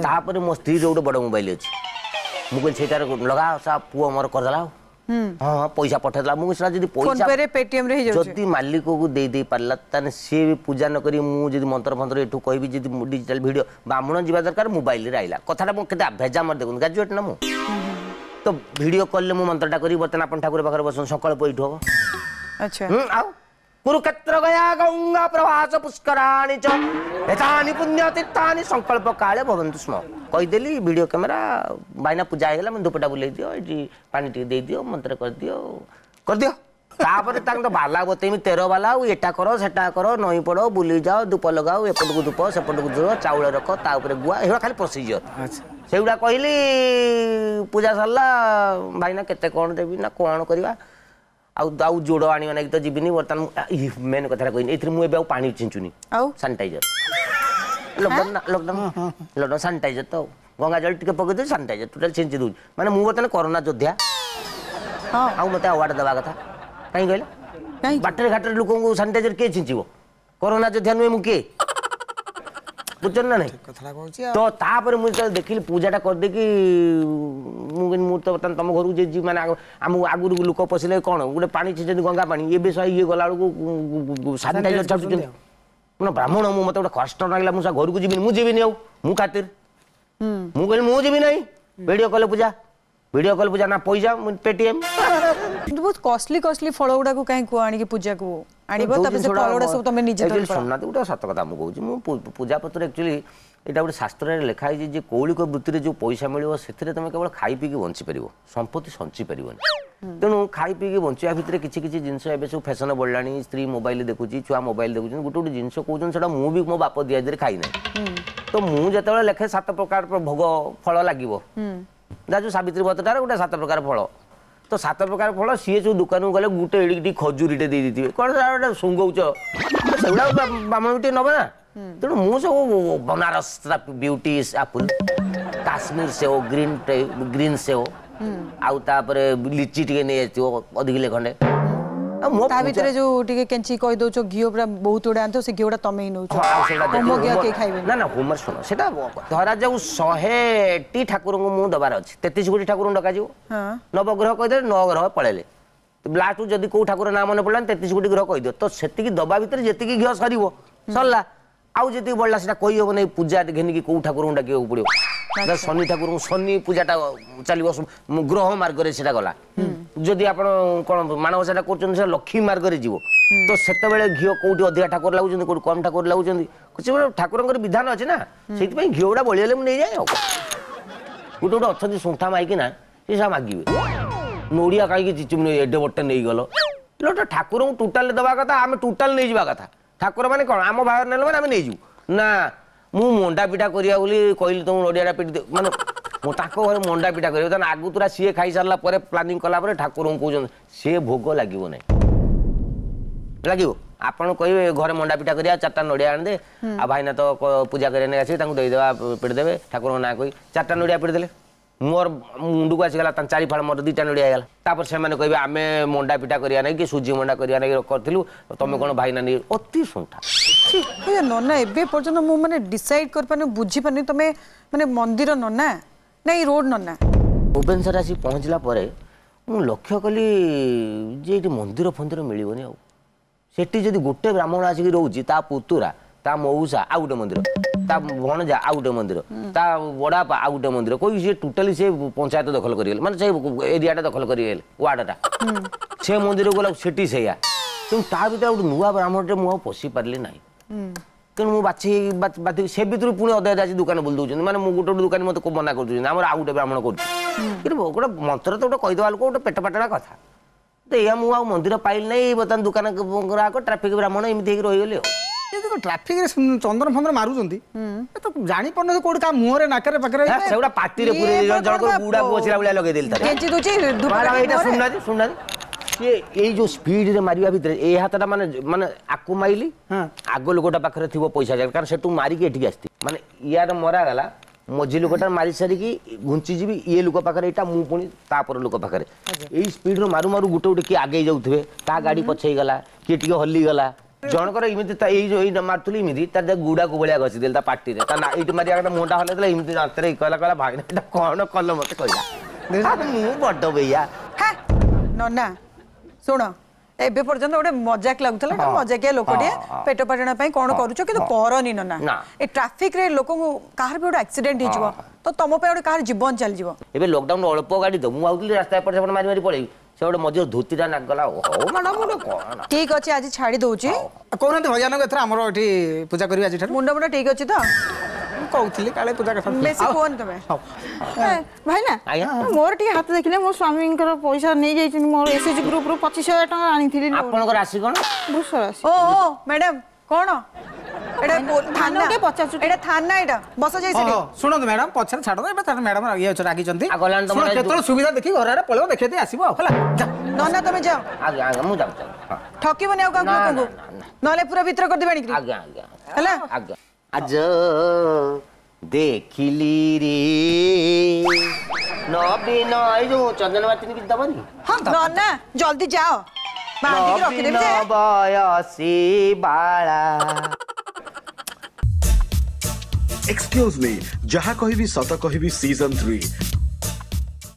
Speaker 4: ତାପରେ ମୋ ସ୍ତ୍ରୀର ଗୋଟେ ବଡ଼ ମୋବାଇଲ ଅଛି, ମୁଁ କହିଲି ସେଇଟାରେ ଲଗା, ସା ପୁଅ ମୋର କରିଦେଲା ଆଉ ହଁ ପଇସା ପଠେଇଦେଲା। ମୁଁ ସେଟା ଯଦି ପଇସା ଯଦି ମାଲିକକୁ ଦେଇ ଦେଇ ପାରିଲା, ତାହେଲେ ସିଏ ବି ପୂଜା ନ କରି ମୁଁ ଯଦି ମନ୍ତ୍ର ଫନ୍ତ୍ର ଏଠୁ କହିବି, ଯଦି ଡିଜିଟାଲ ଭିଡ଼ିଓ ବ୍ରାହ୍ମଣ ଯିବା ଦରକାର, ମୋବାଇଲରେ ଆଇଲା କଥାଟା। ମୁଁ କେତେ ଭେଜା ମୋର ଦେଖନ୍ତୁ, ଗ୍ରାଜୁଏଟ୍ ନା ମୁଁ, ତ ଭିଡ଼ିଓ କଲରେ ମୁଁ ମନ୍ତ୍ରଟା କରିବି। ବର୍ତ୍ତମାନ ଆପଣ ଠାକୁର ପାଖରେ ବସନ୍ତୁ, ସଂକଳ୍ପ ଏଇଠୁ ହବ। ଆଉ କୁରୁକ୍ଷେତ୍ର ଗୟା ଗଙ୍ଗା ପ୍ରଭାସ ପୁଷ୍କରାଣି ଚ ଏତାନି ପୁଣ୍ୟ ତୀର୍ଥାନି ସଂକଳ୍ପ କାଳେ ଭବନ୍ତୁ ସ୍ମ, କହିଦେଲି। ଭିଡ଼ିଓ କ୍ୟାମେରା ଭାଇନା ପୂଜା ହେଇଗଲା, ମୁଁ ଧୂପଟା ବୁଲେଇ ଦିଅ, ଏଠି ପାଣି ଟିକେ ଦେଇଦିଅ, ମନ୍ତ୍ର କରିଦିଅ କରିଦିଅ। ତାପରେ ତାଙ୍କ ତ ବାଲା ବତେଇମି 13 ବାଲା, ଆଉ ଏଟା କର ସେଟା କର, ନଇଁ ପଡ଼, ବୁଲି ଯାଅ, ଧୂପ ଲଗାଅ, ଏପଟକୁ ଧୂପ ସେପଟକୁ ଧୂପ, ଚାଉଳ ରଖ, ତା ଉପରେ ଗୁଆ, ଏଗୁଡ଼ା ଖାଲି ପ୍ରୋସିଜିଅର ସେଗୁଡ଼ା କହିଲି। ପୂଜା ସରିଲା, ଭାଇନା କେତେ କ'ଣ ଦେବି ନା କ'ଣ କରିବା, ଆଉ ଆଉ ଯୋଡ଼ ଆଣିବା ନାଗି ତ ଯିବିନି ବର୍ତ୍ତମାନ। ମେନ୍ କଥାଟା କହିନି ଏଥିରେ, ମୁଁ ଏବେ ଆଉ ପାଣି ଛିଞ୍ଚୁନି, ଆଉ sanitiser. Lockdown lockdown lockdown, sanitiser ତ ଗଙ୍ଗା ଜଳ ଟିକେ ପକେଇ ଦେଉଛି, ସାନିଟାଇଜର ଟୋଟାଲ ଛିଞ୍ଚି ଦେଉଛି। ମାନେ ମୁଁ ବର୍ତ୍ତମାନ କରୋନା ଯୋଦ୍ଧା, ଆଉ ମୋତେ ଆୱାର୍ଡ ଦେବା କଥା। କାହିଁ କହିଲେ, ବାଟରେ ଘାଟରେ ଲୋକଙ୍କୁ ସାନିଟାଇଜର କିଏ ଛିଞ୍ଚିବ? କରୋନା ଯୋଦ୍ଧା ନୁହେଁ ମୁଁ କିଏ? ବୁଝୁଛନ୍ତି ନା ନାଇଁ ତ? ତାପରେ ମୁଁ ଯେତେବେଳେ ଦେଖିଲି ପୂଜାଟା କରିଦେଇକି, ମୁଁ ମୁଁ ତ ବର୍ତ୍ତମାନ ତମ ଘରକୁ ଯେ ମାନେ ଆମକୁ ଆଗରୁ ଲୋକ ପଶିଲେ କ'ଣ ଗୋଟେ ପାଣି ଛିଞ୍ଚନ୍ତି, ଗଙ୍ଗା ପାଣି, ଏବେ ଇଏ ଗଲାବେଳକୁ ସାନିଟାଇଜର ଛାଟୁଛନ୍ତି। ମାନେ ବ୍ରାହ୍ମଣ ମୁଁ, ମୋତେ ଗୋଟେ କଷ୍ଟ ଲାଗିଲା। ମୁଁ ଘରକୁ ଯିବିନି, ମୁଁ ଯିବିନି ଆଉ, ମୁଁ ଖାତିର, ମୁଁ କହିଲି ମୁଁ ଯିବି ନାହିଁ। ଭିଡ଼ିଓ କଲେ ପୂଜା, ଭିଡ଼ିଓ କଲ୍ ପୂଜା ନା ପଇସା ପେଟିଏମ୍।
Speaker 3: କିନ୍ତୁ ବହୁତ କଷ୍ଟଲି କଷ୍ଟଲି ଫଳ ଗୁଡାକୁ କାହିଁ କୁହ ଆଣିକି ପୂଜାକୁ ଆଣିବ, ତାପରେ ସେ ଫଳ ଗୁଡା ସବୁ ତମେ ନିଜେ
Speaker 4: ଶୁଣୁନାହାନ୍ତି। ଗୋଟେ ସତ କଥା ମୁଁ କହୁଛି, ମୁଁ ପୂଜା ପତ୍ର ଆକ୍ଚୁଆଲି ଏଇଟା ଗୋଟେ ଶାସ୍ତ୍ରରେ ଲେଖା ହେଇଛି ଯେ କୌଳିକ ବୃତ୍ତିରେ ଯେଉଁ ପଇସା ମିଳିବ ସେଥିରେ ତମେ କେବଳ ଖାଇ ପିଇକି ବଞ୍ଚିପାରିବ, ସମ୍ପତ୍ତି ସଞ୍ଚି ପାରିବନି। ତେଣୁ ଖାଇ ପିଇକି ବଞ୍ଚିବା ଭିତରେ କିଛି କିଛି ଜିନିଷ ଏବେ ସବୁ ଫ୍ୟାସନ ବଢ଼ିଲାଣି, ସ୍ତ୍ରୀ ମୋବାଇଲ ଦେଖୁଛି, ଛୁଆ ମୋବାଇଲ ଦେଖୁଛନ୍ତି, ଗୋଟେ ଗୋଟେ ଜିନିଷ କହୁଛନ୍ତି ସେଟା ମୁଁ ବି ମୋ ବାପ ଦିଆଦିରେ ଖାଇନାହିଁ। ତ ମୁଁ ଯେତେବେଳେ ଲେଖେ 7 ପ୍ରକାର ଭୋଗ ଫଳ ଲାଗିବ, ଯାହା ଯେଉଁ ସାବିତ୍ରୀ ବ୍ରତଟାରେ ଗୋଟେ 7 ପ୍ରକାର ଫଳ, ତ 7 ପ୍ରକାର ଫଳ ସିଏ ସବୁ ଦୋକାନକୁ ଗଲେ ଗୋଟେ ଏଡ଼ିକି ଟିକେ ଖଜୁରୀଟେ ଦେଇ ଦେଇଥିବେ, କ'ଣ ସେଟା ଗୋଟେ ଶୁଙ୍ଘଉଛ, ସେଗୁଡ଼ା ବ୍ରାହ୍ମଣ ଟିକେ ନେବେ ନା। ତେଣୁ ମୁଁ ସବୁ ବନାରସ ବିୟୁଟି ଆପୁଲ, କାଶ୍ମୀର ସେଓ, ଗ୍ରୀନ୍ ଗ୍ରୀନ୍ ସେଓ, ଆଉ ତାପରେ ଲିଚି ଟିକେ ନେଇ ଆସିଥିବ ଅଧ କିଲେ ଖଣ୍ଡେ।
Speaker 3: ତା ଭିତରେ ଯୋଉ ଟିକେ କେଞ୍ଚି କହିଦଉଛ ଘିଅ ପୁରା ବହୁତ ଗୁଡା ଆଣିଥିବ, ସେ ଘିଅଟା ତମେ ହିଁ ନଉଛ,
Speaker 4: ନା ନା ହୋମର ଶୁଣ, ସେଟା ଧରାଯାଉ 100ଟି ଠାକୁରଙ୍କୁ ମୁଁ ଦବାର ଅଛି, 33 କୋଟି ଠାକୁରଙ୍କୁ ଡକାଯିବ। ନବଗ୍ରହ କହିଦେଲେ 9 ଗ୍ରହ ପଳେଇଲେ, ଲାଷ୍ଟକୁ ଯଦି କୋଉ ଠାକୁର ନାଁ ମନେ ପଡ଼ିଲାନି 33 କୋଟି ଗ୍ରହ କହିଦିଅ। ତ ସେତିକି ଦବା ଭିତରେ ଯେତିକି ଘିଅ ସରିବ ସରିଲା, ଆଉ ଯେତିକି ବଳିଲା ସେଟା କହିହବ ନାହିଁ। ପୂଜା ଘେନିକି କୋଉ ଠାକୁରଙ୍କୁ ଡାକିବାକୁ ପଡ଼ିବ, ଶନି ଠାକୁରଙ୍କୁ, ଶନି ପୂଜାଟା ଚାଲିବ ଗ୍ରହ ମାର୍ଗରେ ସେଟା ଗଲା। ଯଦି ଆପଣ କ'ଣ ମାଣବସାଟା କରୁଛନ୍ତି ସେଟା ଲକ୍ଷ୍ମୀ ମାର୍ଗରେ ଯିବ। ତ ସେତେବେଳେ ଘିଅ କୋଉଠି ଅଧିକା ଠାକୁର ଲାଗୁଛନ୍ତି, କୋଉଠି କମ୍ ଠାକୁର ଲାଗୁଛନ୍ତି, କିଛି ଠାକୁରଙ୍କର ବିଧାନ ଅଛି ନା, ସେଇଥିପାଇଁ ଘିଅ ଗୁଡ଼ା ବଳିଗଲେ ମୁଁ ନେଇଯାଏ। ଆଉ ଗୋଟେ ଗୋଟେ ଅଛନ୍ତି ଶୁଣ୍ଠା ମାଇକିନା, ସେ ସବୁ ମାଗିବେ ନଡ଼ିଆ କାହିଁକି ଚିଚୁମି ଏଡେ ବଟେ ନେଇଗଲ। ଠାକୁରଙ୍କୁ ଟୋଟାଲ ଦେବା କଥା, ଆମେ ଟୋଟାଲ ନେଇଯିବା କଥା। ଠାକୁର ମାନେ କ'ଣ ଆମ ଭାଗରେ ନେଲେ ମାନେ ଆମେ ନେଇଯିବୁ ନା। ମୁଁ ମଣ୍ଡା ପିଠା କରିବା ବୋଲି କହିଲି ତମକୁ ନଡ଼ିଆଟା ପିଟି, ମାନେ ମୁଁ ତାଙ୍କ ଘରେ ମଣ୍ଡା ପିଠା କରିବ, ତାହେଲେ ଆଗତୁରା ସିଏ ଖାଇସାରିଲା ପରେ ପ୍ଲାନିଂ କଲା ପରେ ଠାକୁରଙ୍କୁ କହୁଛନ୍ତି ସେ ଭୋଗ ଲାଗିବ ନାହିଁ, ଲାଗିବ। ଆପଣ କହିବେ ଘରେ ମଣ୍ଡା ପିଠା କରିବା, 4ଟା ନଡ଼ିଆ ଆଣିଦେ, ଆଉ ଭାଇନା ତ ପୂଜା କରିବା ନେଇ ଆସିବେ, ତାଙ୍କୁ ଦେଇଦେବା, ପିଟି ଦେବେ ଠାକୁରଙ୍କ ନାଁ କହି 4ଟା ନଡ଼ିଆ ପିଟି ଦେଲେ ମୋର ମୁଣ୍ଡକୁ ଆସିଗଲା 4 ଫାଳ, ମୋର 2ଟା ନଡ଼ିଆ ହେଇଗଲା। ତାପରେ ସେମାନେ କହିବେ ଆମେ ମଣ୍ଡା ପିଠା କରିବା ନାଇଁ କି ସୁଜି ମଣ୍ଡା କରିବା ନାଇଁ କରିଥିଲୁ, ତମେ କ'ଣ ଭାଇନା ନେଇ ଅତି ଶୁଣ୍ଠା
Speaker 3: ନନା। ଏବେ ପର୍ଯ୍ୟନ୍ତ ମୁଁ ମାନେ ଡିସାଇଡ୍ କରିପାରୁନି, ବୁଝିପାରୁନି ତମେ ମାନେ ମନ୍ଦିର ନନା ନା ଏଇ ରୋଡ ନନା?
Speaker 4: ଭୁବନେଶ୍ୱର ଆସି ପହଞ୍ଚିଲା ପରେ ମୁଁ ଲକ୍ଷ୍ୟ କଲି ଯେ ଏଇଠି ମନ୍ଦିର ଫନ୍ଦିର ମିଳିବନି। ଆଉ ସେଠି ଯଦି ଗୋଟେ ବ୍ରାହ୍ମଣ ଆସିକି ରହୁଛି, ତା ପୁତୁରା, ତା ମଉସା ଆଉ ଗୋଟେ ମନ୍ଦିର, ତା ଭଣଜା ଆଉ ଗୋଟେ ମନ୍ଦିର, ତା ବଡ଼ାପା ଆଉ ଗୋଟେ ମନ୍ଦିର କହିକି ସିଏ ଟୋଟାଲି ସେ ପଞ୍ଚାୟତ ଦଖଲ କରିଗଲେ, ମାନେ ସେ ଏରିଆଟା ଦଖଲ କରିଗଲେ, ୱାର୍ଡଟା। ସେ ମନ୍ଦିରକୁ ଗଲା ସେଠି ସେଇଆ। ତେଣୁ ତା ଭିତରେ ଗୋଟେ ନୂଆ ବ୍ରାହ୍ମଣଟେ ମୁଁ ଆଉ ପଶି ପାରିଲି ନାହିଁ। ତେଣୁ ମୁଁ ବାଛି ବାଛି ସେ ଭିତରୁ ପୁଣି ଅଧେ ଅଧେ ଆସି ଦୋକାନ ବୁଲି ଦେଉଛନ୍ତି, ମାନେ ମୁଁ ଗୋଟେ ଗୋଟେ ଦୋକାନୀ ମୋତେ ମନା କରିଦେଉଛନ୍ତି ଆମର ଆଉ ଗୋଟେ ବ୍ରାହ୍ମଣ କରୁଛି। କିନ୍ତୁ ଗୋଟେ ମନ୍ତ୍ର ତ ଗୋଟେ କହିଦେବା ଲୋକ ଗୋଟେ ପେଟ ପାଟଣା କଥା ତ ଏଇଆ। ମୁଁ ଆଉ ମନ୍ଦିର ପାଇଲି ନାହିଁ, ବର୍ତ୍ତମାନ ଦୋକାନ ଗ୍ରାହକ ଟ୍ରାଫିକ ବ୍ରାହ୍ମଣ ଏମିତି ହେଇକି ରହିଗଲି। ଆଉ
Speaker 2: ଟ୍ରାଫିକରେ ଚନ୍ଦନ ଫନ୍ଦନ ମାରୁଛନ୍ତି ତ ଜାଣିପାରୁନାହାନ୍ତି କୋଉଠି କାହା ମୁହଁରେ ନାକରେ ପାଖରେ,
Speaker 4: ସେଗୁଡ଼ା ପାଟିରେ ପୁରେଇ ଜଣଙ୍କର ଗୁଡାକୁ ବସିଲା ଭଳିଆ ଲଗେଇଦେଲି। ଏଇଟା ଶୁଣୁନାହାନ୍ତି, ଶୁଣୁନାହାନ୍ତି, ସିଏ ଏଇ ଯୋଉ ସ୍ପିଡରେ ମାରିବା ଭିତରେ ଏଇ ହାତଟା ମାନେ ମାନେ ଆକୁ ମାଇଲି, ଆଗ ଲୋକଟା ପାଖରେ ଥିବ ପଇସା, କାରଣ ସେଠୁ ମାରିକି ଏଠିକି ଆସିଥିବି, ମାନେ ଇଆର ମରାଗଲା, ମଝି ଲୋକଟା ମାରି ସାରିକି ଘୁଞ୍ଚିଯିବି ଇଏ ଲୋକ ପାଖରେ, ଏଇଟା ମୁଁ ପୁଣି ତାପର ଲୋକ ପାଖରେ। ଏଇ ସ୍ପିଡରୁ ମାରୁ ମାରୁ ଗୋଟେ ଗୋଟେ କିଏ ଆଗେଇ ଯାଉଥିବେ, ତା ଗାଡ଼ି ପଛେଇ ଗଲା, କିଏ ଟିକେ ହଲିଗଲା। ଜଣଙ୍କର ଏମିତି ଏଇ ଯୋଉ ଏଇ ମାରୁଥିଲି ଏମିତି, ତାର ଗୁଡାକୁ ଭଳିଆ ଘଷିଦେଲି ତା ପାଟିରେ। ତା ଏଇଠି ମାରିବା କଥା, ମୁହଁଟା ହଲେଇଦେଲା ଏମିତି ଦାନ୍ତରେ। କହିଲା, କହିଲା ଭାଇ, ଏଇଟା କଣ କଲ? ମତେ କହିଲା ମୁଁ ବଡ ବେଇଆ।
Speaker 3: ନନା ଶୁଣ, ଏବେ ପର୍ଯ୍ୟନ୍ତ ଗୋଟେ ମଜାକ ଲାଗୁଥିଲା, ମଜାକିଆ ଲୋକଟିଏ, ପେଟ ପାଟଣା ପାଇଁ କଣ କରୁଛ, କିନ୍ତୁ କରନି ନନା। ଏ ଟ୍ରାଫିକରେ ଲୋକଙ୍କୁ କାହାର ବି ଗୋଟେ ଆକ୍ସିଡେଣ୍ଟ ହେଇଯିବ ତ ତମ ପାଇଁ ଗୋଟେ କାହାର ଜୀବନ ଚାଲିଯିବ।
Speaker 4: ଏବେ ଲକଡାଉନ ଅଳ୍ପ ଗାଡି ତ, ମୁଁ ଭାବୁଥିଲି ରାସ୍ତା ଏପଟ ସେପଟ ମାରି ମାରି ପଳେଇବି, ସେ ଗୋଟେ ମଝିରେ ଧୋତିଟା ନାଗଲା। ହଉ ମ୍ୟାଡ଼ାମ, ଗୋଟେ କଣ
Speaker 3: ଠିକ ଅଛି, ଆଜି ଛାଡି ଦଉଛି।
Speaker 2: କହୁନାହାନ୍ତି ଭଜନକୁ, ଏଥର ଆମର ଏଠି ପୂଜା କରିବେ ଆଜିଠାରୁ।
Speaker 3: ମୁଣ୍ଡ ମୁଣ୍ଡ ଠିକ ଅଛି ତ?
Speaker 2: କହୁଥିଲି କାଳେ ପୂଜା କଥା
Speaker 3: ବେଶୀ କୁହନି ତମେ।
Speaker 1: ଭାଇନା, ମୋର ଟିକେ ହାତ ଦେଖିଲେ, ମୋ ସ୍ୱାମୀଙ୍କର ପଇସା ନେଇଯାଇଛନ୍ତି। ମୋର ଏସ୍ଏଚଜି ଗ୍ରୁପରୁ 25,000 ଟଙ୍କା ଆଣିଥିଲି।
Speaker 4: ଆପଣଙ୍କ ରାଶି କଣ?
Speaker 1: ବୃଷ ରାଶି।
Speaker 3: ଓ ମ୍ୟାଡାମ, କଣ ଏଟା? ଥାନା
Speaker 1: ପଚାରୁଛୁ?
Speaker 3: ଏଟା ଥାନା, ଏଟା ବସ ଯାଇ ସେଠି।
Speaker 2: ଶୁଣନ୍ତୁ ମ୍ୟାଡାମ, ପଛରେ ଛାଡ଼ନ୍ତୁ, ଏବେ ତାର ମ୍ୟାଡାମ ଇଏ ଅଛି, ରାଗିଛନ୍ତି। କେତେବେଳେ ସୁବିଧା ଦେଖି ଘର ଆଡ଼େ ପଳେଇବ, ଦେଖେଇ ଦେଇ ଆସିବ ଆଉ। ହେଲା
Speaker 3: ନନା, ତମେ ଯାଅ।
Speaker 4: ଆଜ୍ଞା ଆଜ୍ଞା, ମୁଁ ଯାଉଛି।
Speaker 3: ଠକିବନି ଆଉ କାହାକୁ ଲୋକଙ୍କୁ, ନହେଲେ ପୁରା ଭିତରେ କରିଦେବେ ଆଣିକିରି।
Speaker 4: ଆଜ୍ଞା ଆଜ୍ଞା,
Speaker 3: ହେଲା
Speaker 4: ଆଜ୍ଞା। ଆଜ ଦେଖିଲି ରେ ନବୀନ, ଏଇ ଯୋଉ ଚନ୍ଦନ ବାତିନି କିଛି ଦବନି?
Speaker 3: ନନା ଜଲ୍ଦି ଯାଅ, ବାନ୍ଧିକି ରଖିଦେବି ଯେ।
Speaker 4: ବୟସୀ ବାଳା।
Speaker 5: ଏକ୍ସକ୍ୟୁଜ ମି, ଯାହା କହିବି ସତ କହିବି ସିଜନ 3।